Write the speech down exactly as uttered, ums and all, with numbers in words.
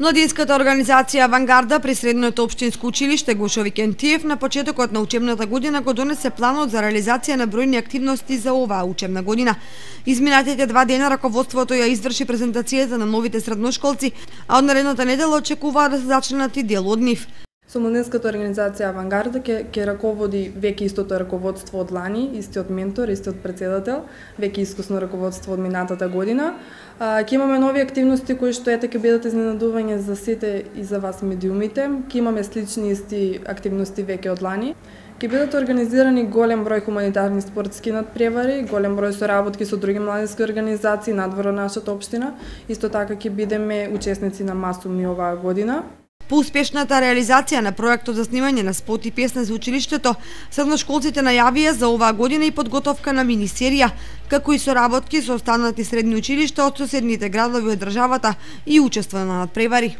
Младинската организација Авангарда при Средното општинско училиште Гошо Викентиев на почетокот на учебната година го донесе планот за реализација на бројни активности за оваа учебна година. Изминатите два дена раководството ја изврши презентацијата на новите средношколци, а од наредната недела очекуваат да се зачленат и дел од нив. Со Младинската организација Авангарда ќе ќе раководи веќе истото раководство од лани, истиот ментор, истиот председател, веќе искусно раководство од минатата година. Ќе имаме нови активности кои што ете ќе бидат изненадување за сите и за вас медиумите. Ќе имаме слични исти активности веќе од лани. Ќе бидат организирани голем број хуманитарни спортски надпревари, голем број соработки со други младински организации надвор од нашата општина. Исто така ќе бидеме учесници на Масуми оваа година. По успешната реализација на проектот за снимање на спот и песна за училиштето, средношколците најавија за оваа година и подготовка на мини-серија, како и соработки со останати средни училишта од соседните градови од државата и учество на надпревари.